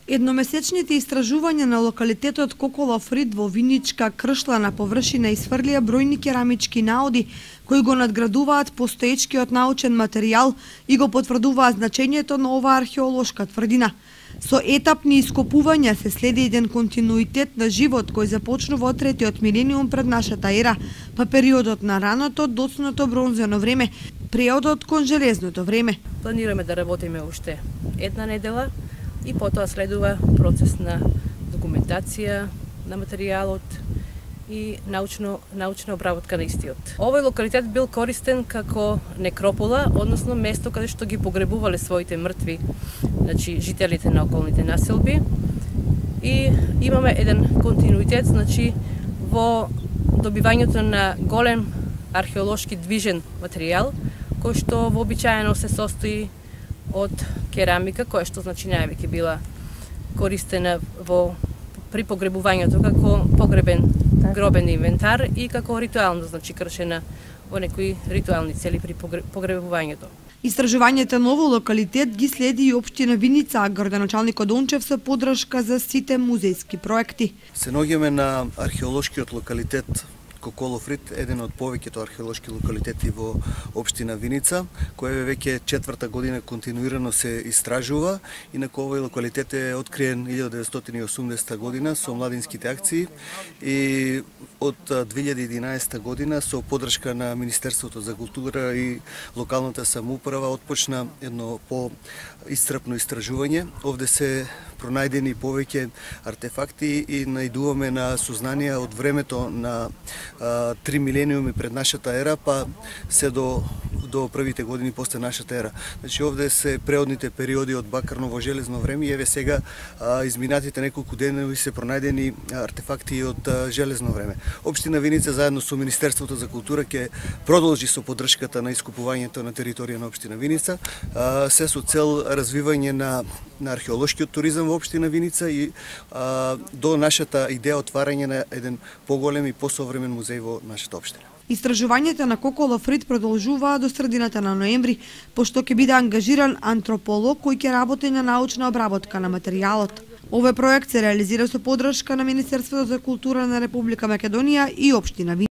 Едномесечните истражувања на локалитетот Коколов рид во Виничка кршлана површина исфрлија бројни керамички наоди кои го надградуваат постоечкиот научен материјал и го потврдуваат значењето на оваа археолошка тврдина. Со етапни ископувања се следи еден континуитет на живот кој започнува од третиот милениум пред нашата ера, па периодот на раното доцното бронзено време, периодот кон железното време. Планираме да работиме уште една недела и потоа следува процес на документација на материјалот и научна обработка на истиот. Овој локалитет бил користен како некропола, односно место каде што ги погребувале своите мртви, значи жителите на околните населби. И имаме еден континуитет, значи во добивањето на голем археолошки движен материјал, кој што вообичаено се состои од керамика, која што значи највеќе била користена при погребувањето како погребен гробен инвентар и како ритуално, значи кршена во некои ритуални цели при погребувањето. Истражувањето на овој локалитет ги следи и општина Виница, а градоначалникот Дончев со поддршка за сите музејски проекти. Се наоѓаме на археолошкиот локалитет Коколов рид, еден од повеќето археолошки локалитети во општина Виница, кој веќе четврта година континуирано се истражува. Инаку овој локалитет е откриен 1980 година со младинските акции и од 2011 година со поддршка на Министерството за култура и локалната самоуправа отпочна едно по-исцрпно истражување. Овде се пронајдени повеќе артефакти и најдуваме на сознанија од времето на 3 милениуми пред нашата ера, па се до првите години после нашата ера. Значи овде се преодните периоди од бакарно во железно време и еве сега изминатите неколку денови се пронајдени артефакти од железно време. Општина Виница заедно со Министерството за култура ќе продолжи со поддршката на искупувањето на територија на општина Виница, се со цел развивање на археолошкиот туризам во општина Виница и до нашата идеја отварање на еден поголем и посовремен музеј во нашата општина. Истражувањата на Коколов рид продолжуваат до средината на ноември, пошто ќе биде ангажиран антрополог кој ќе работи на научна обработка на материјалот. Овој проект се реализира со поддршка на Министерството за култура на Република Македонија и општина Виница.